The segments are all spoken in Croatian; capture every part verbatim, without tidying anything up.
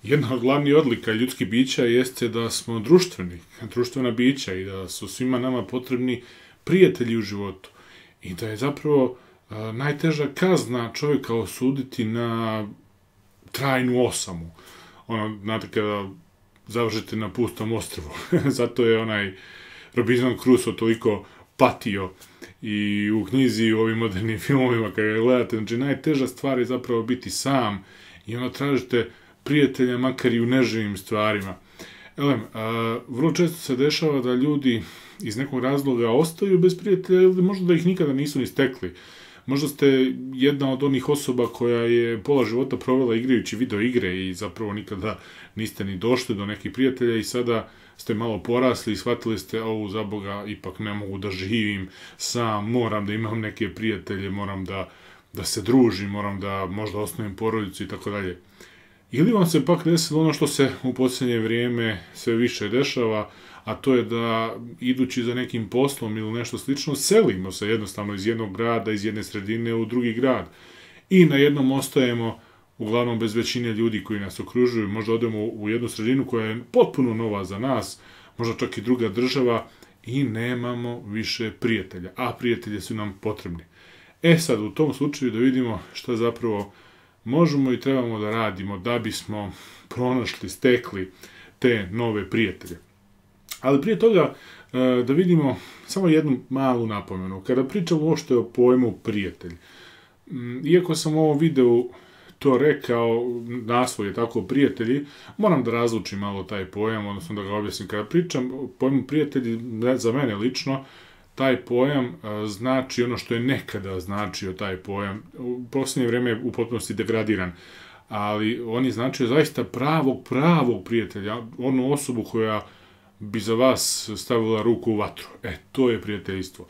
Jedna od glavnih odlika ljudskih bića jeste da smo društveni, društvena bića i da su svima nama potrebni prijatelji u životu. I da je zapravo a, najteža kazna čovjeka osuditi na trajnu osamu. Ono, znate, kada završite na pustom ostrvu. Zato je onaj Robinson Crusoe toliko patio i u knjizi i u ovim modernim filmovima kada ga gledate. Znači, najteža stvar je zapravo biti sam i onda tražite prijatelja makar i u neživim stvarima. Elem, a, vrlo često se dešava da ljudi iz nekog razloga ostaju bez prijatelja ili možda da ih nikada nisu ni stekli. Možda ste jedna od onih osoba koja je pola života provela igrajući video igre i zapravo nikada niste ni došli do nekih prijatelja i sada ste malo porasli i shvatili ste, ovu za Boga, ipak ne mogu da živim sam, moram da imam neke prijatelje, moram da, da se družim, moram da možda osnovim porodicu i tako dalje. Ili vam se pak desilo ono što se u posljednje vrijeme sve više dešava, a to je da idući za nekim poslom ili nešto slično, selimo se jednostavno iz jednog grada, iz jedne sredine u drugi grad. I na jednom ostajemo, uglavnom bez većine ljudi koji nas okružuju, možda odemo u jednu sredinu koja je potpuno nova za nas, možda čak i druga država, i nemamo više prijatelja, a prijatelji su nam potrebni. E sad, u tom slučaju da vidimo šta zapravo možemo i trebamo da radimo da bismo pronašli, stekli te nove prijatelje. Ali prije toga da vidimo samo jednu malu napomenu. Kada pričamo uopšte o pojmu prijatelj, iako sam u ovom videu to rekao, naslov je tako prijatelji, moram da razlučim malo taj pojam, odnosno da ga objasnim. Kada pričam o pojmu prijatelji, za mene lično, taj pojam znači ono što je nekada značio taj pojam. U posljednje vrijeme je u potpunosti degradiran, ali on je značio zaista pravog, pravog prijatelja, onu osobu koja bi za vas stavila ruku u vatru. E, to je prijateljstvo.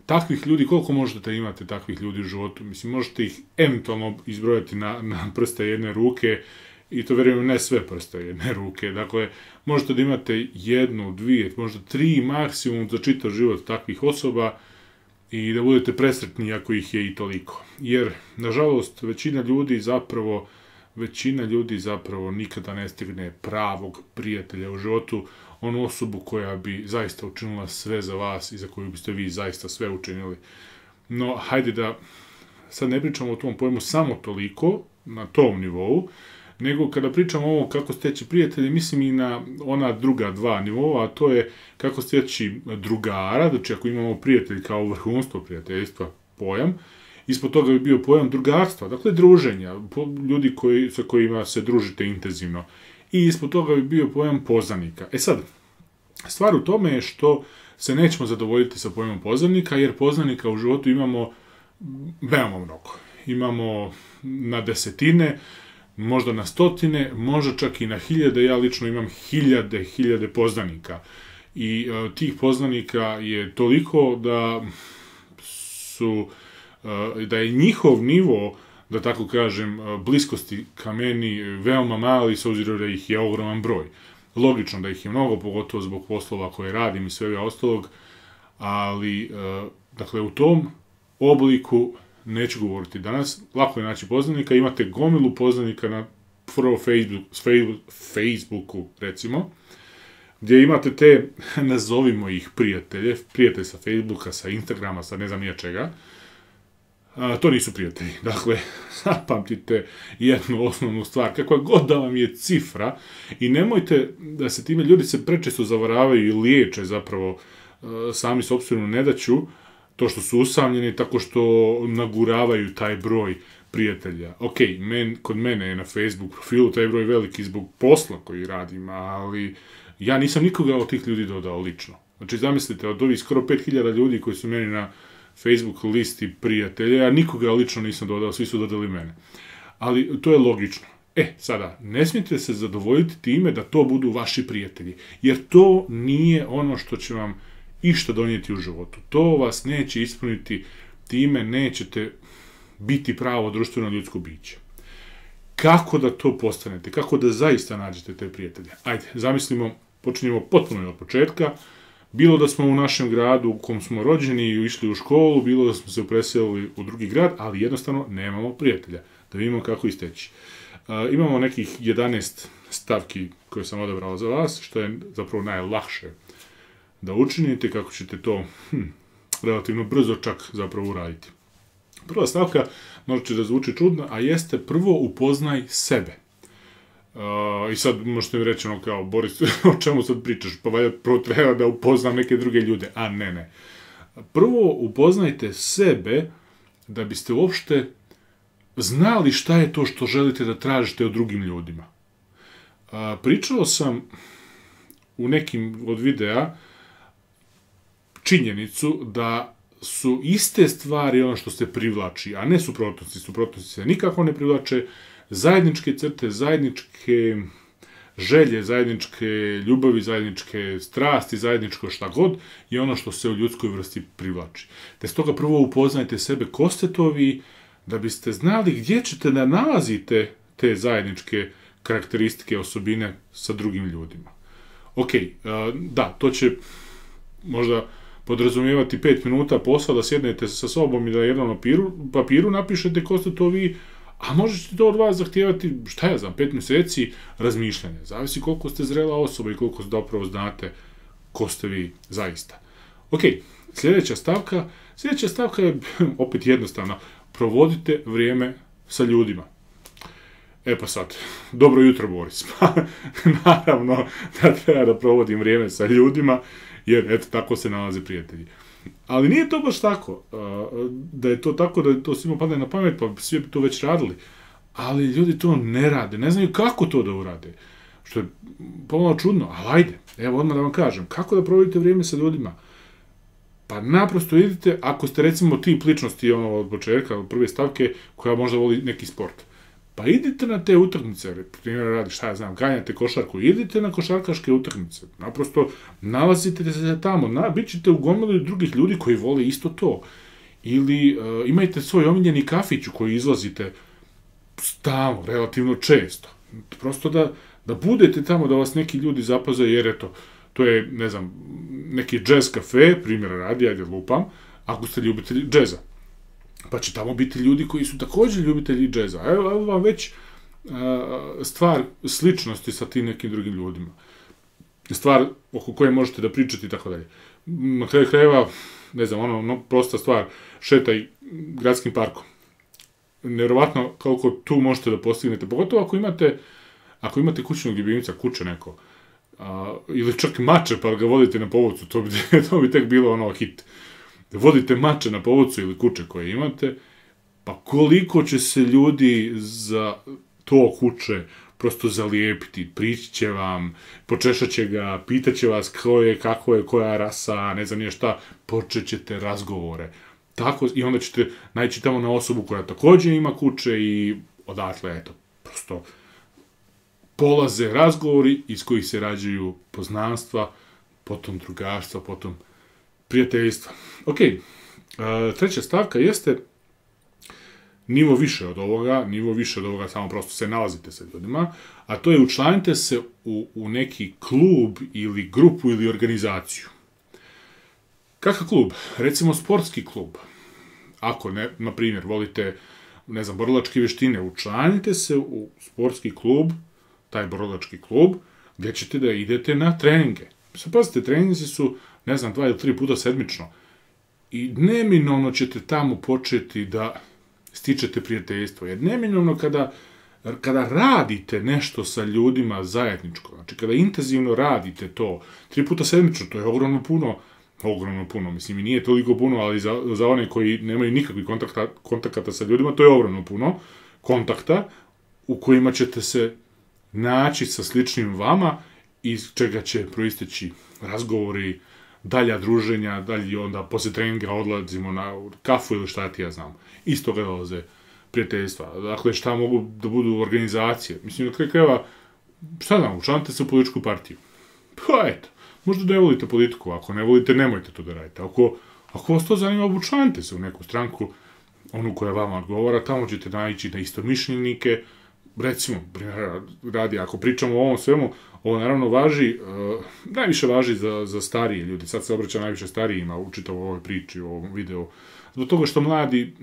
Takvih ljudi, koliko možete imate takvih ljudi u životu? Mislim, možete ih eventualno izbrojati na, na prste jedne ruke, i to vjerujem ne sve prste jedne ruke. Dakle, možete da imate jednu, dvije, možda tri maksimum za čitav život takvih osoba i da budete presretni ako ih je i toliko. Jer, nažalost, većina ljudi zapravo, većina ljudi zapravo nikada ne stigne pravog prijatelja u životu, onu osobu koja bi zaista učinila sve za vas i za koju biste vi zaista sve učinili. No, hajde da sad ne pričamo o tom pojmu samo toliko, na tom nivou, nego kada pričamo o ovo kako steći prijatelje, mislim i na ona druga dva nivova, a to je kako steći drugara, znači ako imamo prijatelj kao vrhunstvo prijateljstva, pojam, ispod toga bi bio pojam drugarstva, dakle druženja, ljudi koji, sa kojima se družite intenzivno. I ispod toga bi bio pojam poznanika. E sad, stvar u tome je što se nećemo zadovoljiti sa pojmom poznanika, jer poznanika u životu imamo veoma mnogo. Imamo na desetine, možda na stotine, možda čak i na hiljade. Ja lično imam hiljade, hiljade poznanika. I uh, tih poznanika je toliko da su, uh, da je njihov nivo, da tako kažem, bliskosti ka meni veoma mali, s obzirom da ih je ogroman broj. Logično da ih je mnogo, pogotovo zbog poslova koje radim i svega ostalog, ali, dakle, u tom obliku neću govoriti danas. Lako je naći poznanika, imate gomilu poznanika na prvo Facebook, Facebooku, recimo, gdje imate te, nazovimo ih prijatelje, prijatelj sa Facebooka, sa Instagrama, sa ne znam nije čega. A, to nisu prijatelji. Dakle, zapamtite jednu osnovnu stvar, kakva god da vam je cifra, i nemojte da se time ljudi se prečesto zavaravaju i liječe zapravo sami sopstvenu nedaću, to što su usamljeni tako što naguravaju taj broj prijatelja. Ok, men, kod mene je na Facebook profilu taj broj veliki zbog posla koji radim, ali ja nisam nikoga od tih ljudi dodao lično. Znači, zamislite, od ovih skoro pet hiljada ljudi koji su meni na Facebook listi prijatelja, ja nikoga lično nisam dodao, svi su dodali mene. Ali to je logično. E, sada, ne smijete se zadovoljiti time da to budu vaši prijatelji, jer to nije ono što će vam išta donijeti u životu. To vas neće ispuniti, time nećete biti pravo društveno ljudsko biće. Kako da to postanete? Kako da zaista nađete te prijatelje? Ajde, zamislimo, počinjemo potpuno od početka. Bilo da smo u našem gradu u kom smo rođeni i išli u školu, bilo da smo se preselili u drugi grad, ali jednostavno nemamo prijatelja. Da vidimo kako isteći. imamo nekih jedanaest stavki koje sam odabrao za vas, što je zapravo najlakše da učinite, kako ćete to hm, relativno brzo čak zapravo uraditi. Prva stavka možda će da zvuči čudno, a jeste prvo upoznaj sebe. Uh, I sad možete mi reći ono kao, Boris, o čemu sad pričaš? Pa valjda prvo treba da upoznam neke druge ljude. A ne, ne. Prvo upoznajte sebe da biste uopšte znali šta je to što želite da tražite od drugim ljudima. Uh, pričao sam u nekim od videa činjenicu da su iste stvari ono što se privlači, a ne suprotnosti. Suprotnosti se nikako ne privlače. Zajedničke crte, zajedničke želje, zajedničke ljubavi, zajedničke strasti, zajedničko šta god je ono što se u ljudskoj vrsti privlači. Te stoga prvo upoznajte sebe ko ste to vi, da biste znali gdje ćete da nalazite te zajedničke karakteristike, osobine sa drugim ljudima. Ok, da, to će možda podrazumijevati pet minuta posla da sjednete sa sobom i da na jednom papiru, papiru napišete ko ste to vi, a možete to od vas zahtijevati, šta ja znam, pet mjeseci razmišljanja. Zavisi koliko ste zrela osoba i koliko zapravo znate ko ste vi zaista. Ok, sljedeća stavka. Sljedeća stavka je opet jednostavna. Provodite vrijeme sa ljudima. E pa sad, dobro jutro Boris. Naravno da treba da provodim vrijeme sa ljudima, jer eto tako se nalaze prijatelji. Ali nije to baš tako, da je to tako, da je to svima padne na pamet, pa svi bi to već radili. Ali ljudi to ne rade, ne znaju kako to da urade. Što je pomalo čudno, ali ajde, evo odmah da vam kažem, kako da provodite vrijeme sa ljudima? Pa naprosto idite, ako ste recimo tip ličnosti ono od početka, od prve stavke, koja možda voli neki sport. Pa idite na te utakmice, primjer radi, šta ja znam, ganjate košarku, idite na košarkaške utakmice, naprosto nalazite se tamo, na, bit ćete u gomilu drugih ljudi koji vole isto to. Ili uh, imajte svoj omiljeni kafić u koji izlazite stalno, relativno često. Prosto da, da budete tamo, da vas neki ljudi zapaze, jer eto, to je, ne znam, neki jazz kafe, primjer radi, ajde lupam, ako ste ljubitelji džeza. Pa će tamo biti ljudi koji su također ljubitelji džeza. Evo, evo vam već uh, stvar sličnosti sa tim nekim drugim ljudima. Stvar oko koje možete da pričate i tako dalje. Na kraju krajeva, ne znam, ono, no, prosta stvar, šetaj gradskim parkom. Nevjerovatno koliko tu možete da postignete, pogotovo ako imate, ako imate kućnog ljubimca, kuće neko, uh, ili čak mače pa ga vodite na povodcu, to bi, to bi tek bilo ono hit. Vodite mače na povodcu ili kuće koje imate, pa koliko će se ljudi za to kuće prosto zalijepiti, prići će vam, počešat će ga, pitat će vas ko je, kako je, koja rasa, ne znam nije šta, počet ćete razgovore. Tako, i onda ćete naći tamo na osobu koja također ima kuće i odatle, eto, prosto polaze razgovori iz kojih se rađaju poznanstva, potom drugarstva, potom prijateljstva. Ok, treća stavka jeste nivo više od ovoga, nivo više od ovoga, samo prosto se nalazite sa ljudima, a to je učlanite se u, u neki klub ili grupu ili organizaciju. Kakav klub? Recimo sportski klub. Ako, ne, na primjer, volite, ne znam, borilačke vještine, učlanite se u sportski klub, taj borilački klub, gdje ćete da idete na treninge. Sad pazite, treninzi su, ne znam, dva ili tri puta sedmično. I neminovno ćete tamo početi da stičete prijateljstvo. Jer neminovno kada, kada radite nešto sa ljudima zajedničko, znači kada intenzivno radite to, tri puta sedmično, to je ogromno puno, ogromno puno, mislim i nije toliko puno, ali za, za one koji nemaju nikakvih kontakta, kontakata sa ljudima, to je ogromno puno kontakta u kojima ćete se naći sa sličnim vama, iz čega će proisteći razgovori, dalja druženja, dalji onda poslije treninga odlazimo na kafu ili šta ti ja znam. Iz toga dolaze prijateljstva. Dakle, šta mogu da budu organizacije? Mislim, na kraju krajeva, šta znam, učlanite se u političku partiju. Pa eto, možda ne volite politiku, ako ne volite, nemojte to da radite. Ako, ako vas to zanima, učlanite se u neku stranku, onu koja vama odgovara, tamo ćete naići na istomišljenike. Recimo, radi, ako pričamo o ovom svemu, ovo naravno važi, uh, najviše važi za, za starije ljudi. Sad se obraća najviše starijima u čitavoj ovoj priči, u ovom videu. Zbog toga što mladi,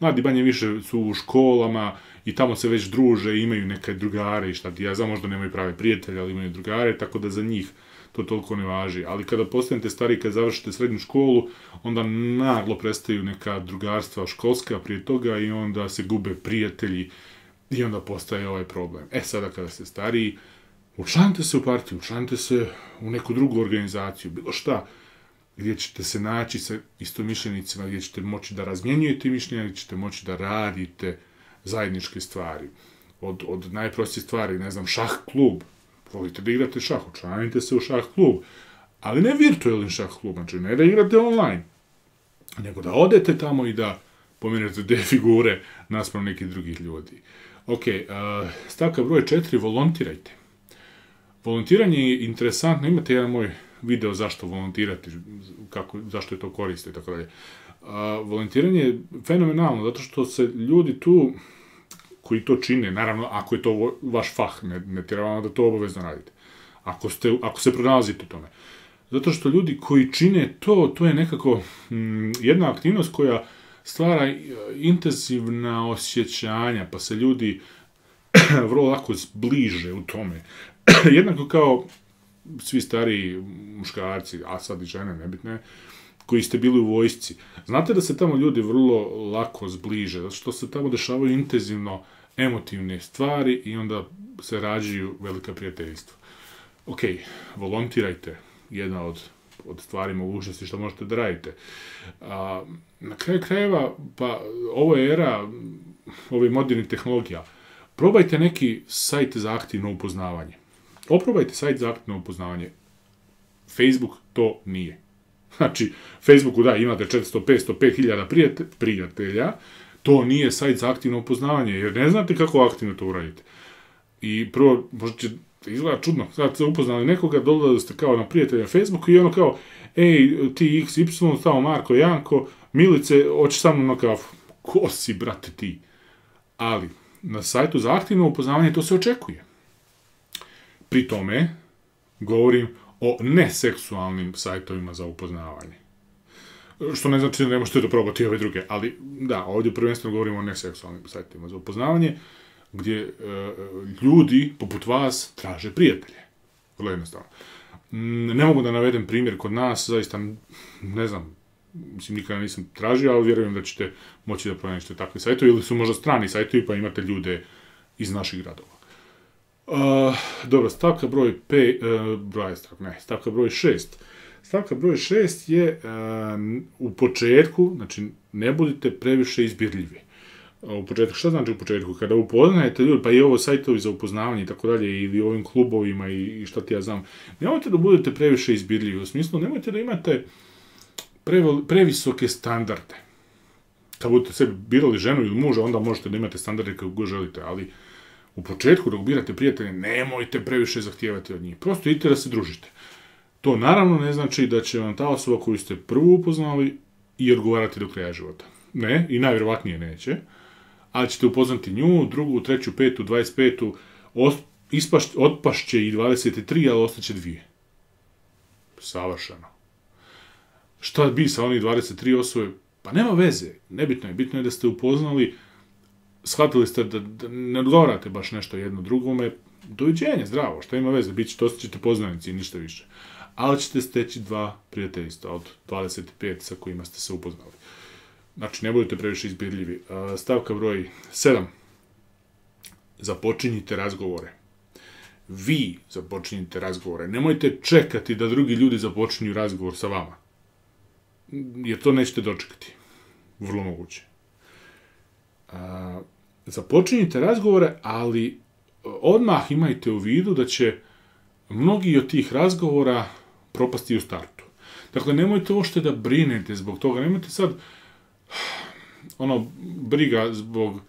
mladi manje više su u školama i tamo se već druže, imaju neke drugare i šta ti ja znam, možda nemaju prave prijatelje, ali imaju drugare, tako da za njih to toliko ne važi. Ali kada postanete stari, kad završite srednju školu, onda naglo prestaju neka drugarstva školska prije toga i onda se gube prijatelji i onda postaje ovaj problem. E sada kada ste stariji, učlanite se u partiju, učlanite se u neku drugu organizaciju, bilo šta, gdje ćete se naći sa istomišljenicima, gdje ćete moći da razmjenjujete mišljenja, gdje ćete moći da radite zajedničke stvari. Od, od najprostije stvari, ne znam, šah klub. Volite da igrate šah, učlanite se u šah klub. Ali ne virtualni šah klub, znači ne da igrate online, nego da odete tamo i da pomenete te figure naspram nekih drugih ljudi. Ok, uh, stavka broj četiri, volontirajte. Volontiranje je interesantno, imate jedan moj video zašto volontirati, kako, zašto je to koriste i tako dalje. Volontiranje je fenomenalno, zato što se ljudi tu, koji to čine, naravno, ako je to vaš fah, ne, ne treba da to obavezno radite. Ako, ste, ako se pronalazite u tome. Zato što ljudi koji čine to, to je nekako hm, jedna aktivnost koja stvara intenzivna osjećanja, pa se ljudi vrlo lako zbliže u tome. Jednako kao svi stariji muškarci, a sad i žene, nebitne, koji ste bili u vojsci. Znate da se tamo ljudi vrlo lako zbliže, zato što se tamo dešavaju intenzivno emotivne stvari i onda se rađaju velika prijateljstva. Ok, volontirajte, jedna od, od stvari mogućnosti što možete da radite. A, na kraju krajeva, pa ovo je era ovih modernih tehnologija. Probajte neki sajt za aktivno upoznavanje. Oprobajte sajt za aktivno upoznavanje. Facebook to nije. Znači, Facebooku da, imate četiristo, petsto, pet hiljada prijatelja, to nije sajt za aktivno upoznavanje, jer ne znate kako aktivno to uradite. I prvo, možda će izgleda čudno, sad ste upoznali nekoga, dolazili ste kao na prijatelja na Facebooku i ono kao, ej, ti iks ipsilon, tamo Marko, Janko, Milice, hoćeš sa mnom na kafu. Ko si, brate, ti? Ali, na sajtu za aktivno upoznavanje to se očekuje. Pri tome, govorim o neseksualnim sajtovima za upoznavanje. Što ne znači da ne možete da probati ove druge, ali da, ovdje prvenstveno govorimo o neseksualnim sajtovima za upoznavanje, gdje e, ljudi, poput vas, traže prijatelje. Vrlo jednostavno. Ne mogu da navedem primjer kod nas, zaista, ne znam, mislim, nikada nisam tražio, ali vjerujem da ćete moći da pronađete takve sajtove, ili su možda strani sajtovi, pa imate ljude iz naših gradova. Uh, dobro, stavka broj pe, uh, broj, ne, stavka broj šest. Stavka broj šest je uh, u početku, znači ne budite previše izbirljivi. Uh, u početku, šta znači u početku? Kada upoznajete ljudi, pa i ovo sajtovi za upoznavanje i tako dalje, ili ovim klubovima i, i šta ti ja znam, nemojte da budete previše izbirljivi, u smislu nemojte da imate prevel, previsoke standarde. Kad budete sebi birali ženu ili muža, onda možete da imate standarde kako god želite, ali u početku, dok birate prijatelje, nemojte previše zahtijevati od njih. Prosto idite da se družite. To naravno ne znači da će vam ta osoba koju ste prvo upoznali i odgovarati do kraja života. Ne, i najvjerovatnije neće. Ali ćete upoznati nju, drugu, treću, petu, dvadeset petu, ispaš, otpašće i dvadeset tri, ali ostaće dvije. Savršeno. Šta bi sa onih dvadeset tri osobe? Pa nema veze. Nebitno je. Bitno je da ste upoznali, shvatili ste da, da ne odgovarate baš nešto jedno drugome, doviđenje, zdravo, šta ima veze, bit ćete, ostaćete poznanici i ništa više. Ali ćete steći dva prijateljstva od dvadeset pet sa kojima ste se upoznali. Znači, ne budete previše izbirljivi. Stavka broj sedam. Započinjite razgovore. Vi započinjite razgovore. Nemojte čekati da drugi ljudi započinju razgovor sa vama. Jer to nećete dočekati. Vrlo moguće. A, započinjite razgovore, ali odmah imajte u vidu da će mnogi od tih razgovora propasti u startu. Dakle, nemojte uopšte da brinete zbog toga, nemojte sad ono, briga zbog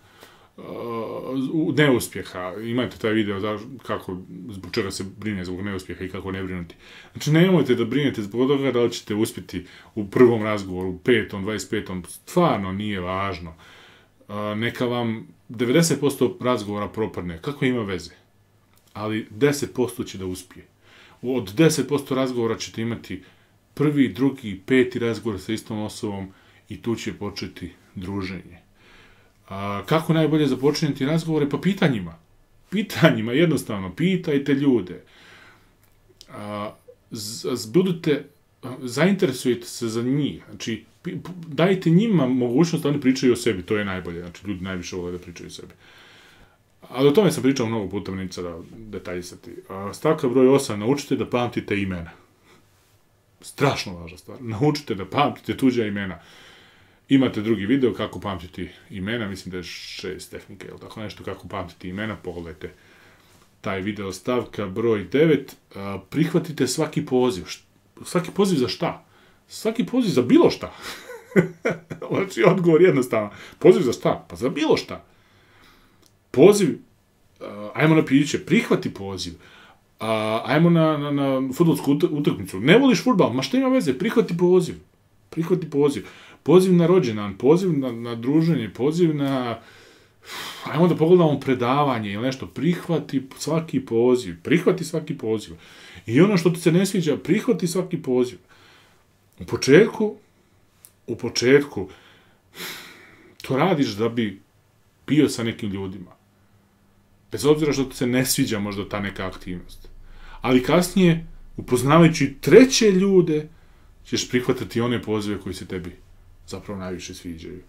uh, neuspjeha. Imate taj video da, kako, zbog čega se brine zbog neuspjeha i kako ne brinuti. Znači, nemojte da brinete zbog toga da li ćete uspjeti u prvom razgovoru, u petom, dvadeset petom, stvarno nije važno. Uh, neka vam devedeset posto razgovora propadne, kako ima veze? Ali deset posto će da uspije. Od deset posto razgovora ćete imati prvi, drugi, peti razgovor sa istom osobom i tu će početi druženje. A, kako najbolje započinjeti razgovore? Pa pitanjima. Pitanjima, jednostavno, pitajte ljude. A, z, z, budite, zainteresujete se za njih. Znači, dajte njima mogućnost da oni pričaju o sebi, to je najbolje. Znači, ljudi najviše vole da pričaju o sebi. Ali o tome sam pričao mnogo puta, neću sada detaljisati. Stavka broj osam, naučite da pamtite imena. Strašno važna stvar. Naučite da pamtite tuđa imena. Imate drugi video kako pamtiti imena, mislim da je šest tehnike, ili tako nešto, kako pamtiti imena, pogledajte taj video. Stavka broj devet, prihvatite svaki poziv. Svaki poziv za šta? Svaki poziv za bilo šta. Znači, odgovor jednostavno. Poziv za šta? Pa za bilo šta. Poziv, uh, ajmo na piće, prihvati poziv, uh, ajmo na, na, na fudbalsku utakmicu, ne voliš fudbal, ma šta ima veze, prihvati poziv, prihvati poziv, poziv na rođendan, poziv na, na druženje, poziv na, ajmo da pogledamo predavanje ili nešto, prihvati svaki poziv, prihvati svaki poziv, i ono što ti se ne sviđa, prihvati svaki poziv. U početku, u početku, to radiš da bi bio sa nekim ljudima. Bez obzira što ti se ne sviđa možda ta neka aktivnost. Ali kasnije, upoznavajući treće ljude, ćeš prihvatati one pozive koji se tebi zapravo najviše sviđaju.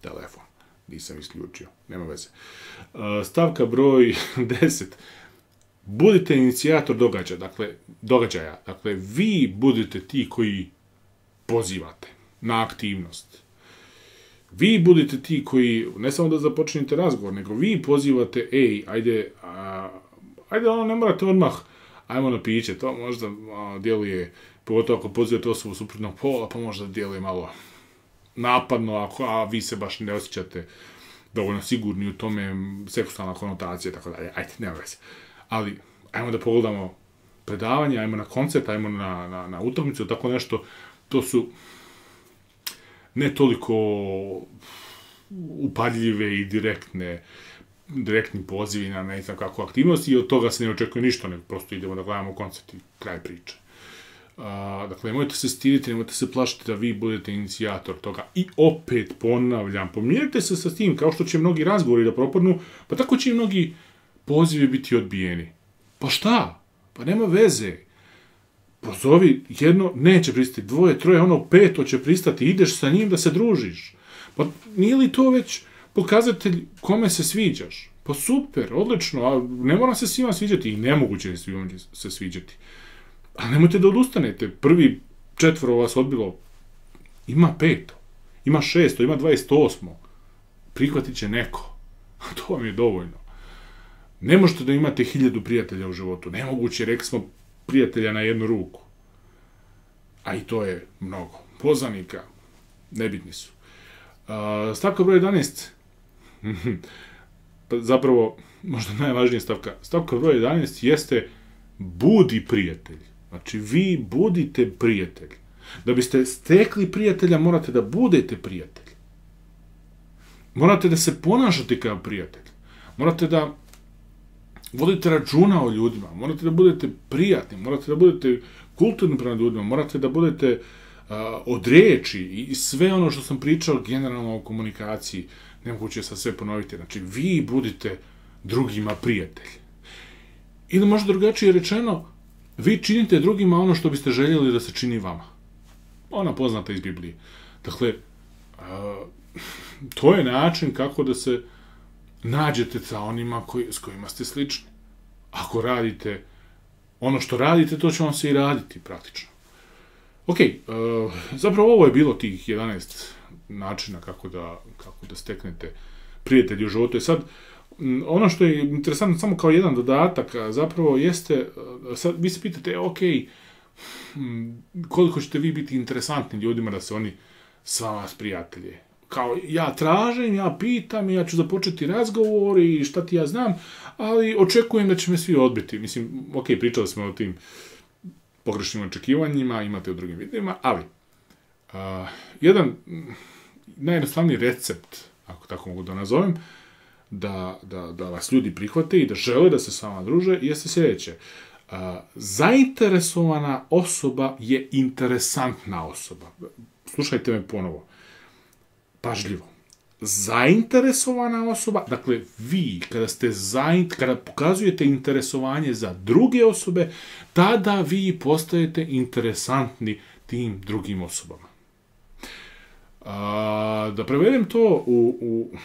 Telefon. Nisam isključio. Nema veze. Stavka broj deset. Budite inicijator događaja. Dakle, događaja. Dakle, vi budete ti koji pozivate na aktivnost. Vi budete ti koji, ne samo da započinjete razgovor, nego vi pozivate, ej, ajde, a, ajde, ono, ne morate odmah, ajmo na piće, to možda a, djeluje, pogotovo ako pozivate osobu suprotnog pola, pa možda djeluje malo napadno, ako, a vi se baš ne osjećate dovoljno sigurni u tome, seksualna konotacija, tako dalje, ajde, nema veze. Ali, ajmo da pogledamo predavanje, ajmo na koncert, ajmo na, na, na utakmicu, tako nešto, to su ne toliko upadljive i direktne, direktni pozivi na ne znam kakvu aktivnost, i od toga se ne očekuje ništa, nego prosto idemo da gledamo koncert i kraj priče. A, dakle, nemojte se stiditi, nemojte se plašiti da vi budete inicijator toga. I opet ponavljam, pomirite se sa tim, kao što će mnogi razgovori da propadnu, pa tako će i mnogi pozivi biti odbijeni. Pa šta? Pa nema veze. Pozovi, jedno neće pristati, dvoje, troje, ono peto će pristati, ideš sa njim da se družiš. Pa nije li to već pokazatelj kome se sviđaš? Pa super, odlično, a ne mora se svima sviđati, i nemoguće je svima se sviđati. A nemojte da odustanete, prvi četvoro vas odbilo, ima peto, ima šesto, ima dvadeset osmo, prihvatit će neko, a to vam je dovoljno. Ne možete da imate hiljadu prijatelja u životu, nemoguće, rekli smo, prijatelja na jednu ruku. A i to je mnogo. Poznanika, nebitni su. Uh, stavka broj jedanaest, zapravo, možda najvažnija stavka, stavka broj jedanaest jeste budi prijatelj. Znači, vi budite prijatelj. Da biste stekli prijatelja, morate da budete prijatelj. Morate da se ponašate kao prijatelj. Morate da vodite računa o ljudima, morate da budete prijatni, morate da budete kulturni prema ljudima, morate da budete uh, od riječi i sve ono što sam pričao generalno o komunikaciji, nemoguće sad sve ponoviti. Znači, vi budite drugima prijatelji. Ili možda drugačije rečeno, vi činite drugima ono što biste željeli da se čini vama. Ona poznata iz Biblije. Dakle, uh, to je način kako da se nađete sa onima koji, s kojima ste slični. Ako radite ono što radite, to će vam se i raditi praktično. Ok, uh, zapravo ovo je bilo tih jedanaest načina kako da, kako da steknete prijatelji u životu. I sad, ono što je interesantno samo kao jedan dodatak, zapravo jeste, sad vi se pitate, ok, koliko ćete vi biti interesantni ljudima da se oni s vama sprijatelje. Kao, ja tražim, ja pitam, ja ću započeti razgovor i šta ti ja znam, ali očekujem da će me svi odbiti. Mislim, ok, pričali smo o tim pogrešnim očekivanjima, imate u drugim videima, ali uh, jedan najjednostavniji recept, ako tako mogu da nazovem, da, da, da vas ljudi prihvate i da žele da se s vama druže, jeste sljedeće. Uh, zainteresovana osoba je interesantna osoba. slušajte me ponovo, pažljivo. Zainteresovana osoba, dakle vi kada ste zaint, kada pokazujete interesovanje za druge osobe, tada vi postajete interesantni tim drugim osobama. A, da prevedem to u, u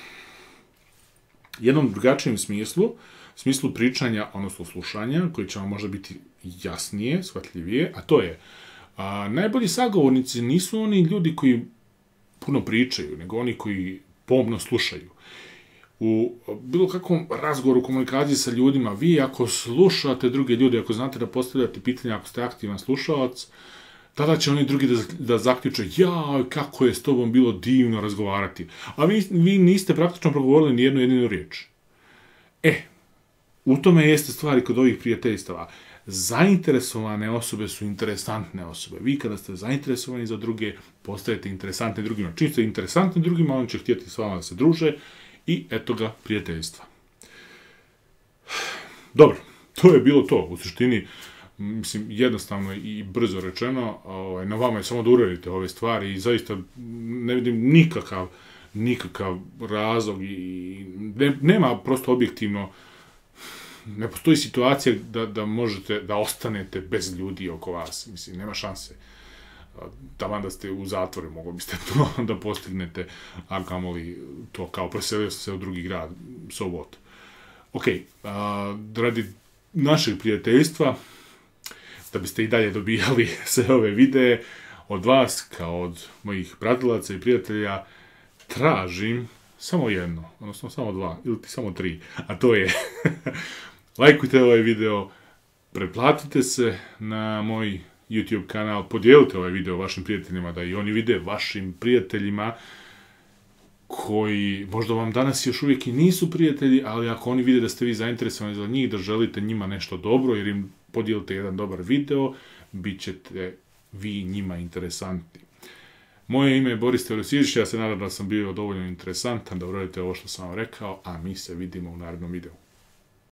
jednom drugačijem smislu, smislu pričanja, odnosno slušanja, koji će vam možda biti jasnije, shvatljivije, a to je, a, najbolji sagovornici nisu oni ljudi koji puno pričaju, nego oni koji pomno slušaju. U bilo kakvom razgovoru, komunikaciji sa ljudima, vi ako slušate druge ljude, ako znate da postavljate pitanja, ako ste aktivan slušalac, tada će oni drugi da, da zaključe, jao, kako je s tobom bilo divno razgovarati. A vi, vi niste praktično progovorili ni jednu jedinu riječ. E, u tome jeste stvari kod ovih prijateljstava. Zainteresovane osobe su interesantne osobe. Vi kada ste zainteresovani za druge, postajete interesantni drugima. Čim ste interesantni drugima, on će htjeti s vama da se druže i eto ga prijateljstva. Dobro, to je bilo to. U suštini, mislim, jednostavno i brzo rečeno, ovaj, na vama je samo da uradite ove stvari i zaista ne vidim nikakav, nikakav razlog i ne, nema prosto objektivno, ne postoji situacija da, da možete, da ostanete bez ljudi oko vas. Mislim, nema šanse. Taman da ste u zatvoru, mogli biste to da postignete, a kamoli to kao preselio sam se u drugi grad, so what. Ok, a, radi našeg prijateljstva, da biste i dalje dobijali sve ove videe od vas, kao od mojih pratilaca i prijatelja, tražim samo jedno, odnosno samo dva, ili ti samo tri, a to je lajkujte ovaj video, pretplatite se na moj YouTube kanal, podijelite ovaj video vašim prijateljima, da i oni vide vašim prijateljima koji možda vam danas još uvijek i nisu prijatelji, ali ako oni vide da ste vi zainteresovani za njih, da želite njima nešto dobro, jer im podijelite jedan dobar video, bit ćete vi njima interesantni. Moje ime je Boris Teodosijević, ja se nadam da sam bio dovoljno interesantan da uradite ovo što sam vam rekao, a mi se vidimo u narednom videu.